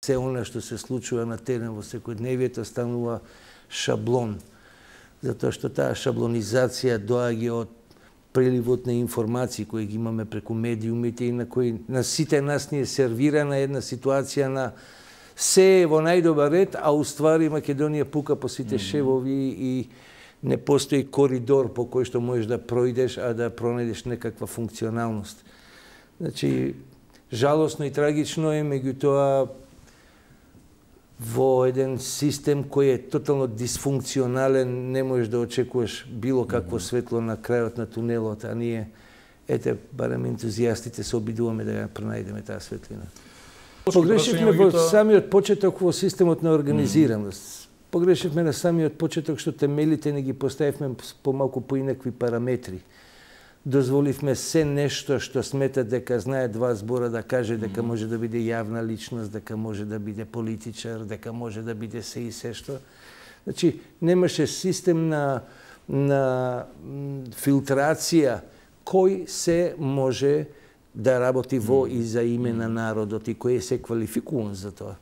се она што се случува на терен во секојдневието станува шаблон. Затоа што таа шаблонизација доаѓа од преливот на информации кои ги имаме преку медиумите и на кои на сите нас ни е сервирана една ситуација на се во најдобар ред, а уствари Македонија пука по сите шевови и не постои коридор по кој што можеш да проидеш, а да пронајдеш некаква функционалност. Значи, жалосно и трагично е, меѓутоа во еден систем кој е тотално дисфункционален, не можеш да очекуваш било какво светло на крајот на тунелот, а ние, ете, барем ентузијастите се обидуваме да ја пронајдеме таа светлина. Погрешивме во самиот почеток во системот на организираност. Погрешивме на самиот почеток што темелите не ги поставивме по малку поинакви параметри. Дозволивме се нешто што смета дека знае два збора да каже дека може да биде јавна личност, дека може да биде политичар, дека може да биде се и се што. Значи, немаше систем на филтрација кој се може да работи во и за име на народот и кој се квалификуван за тоа.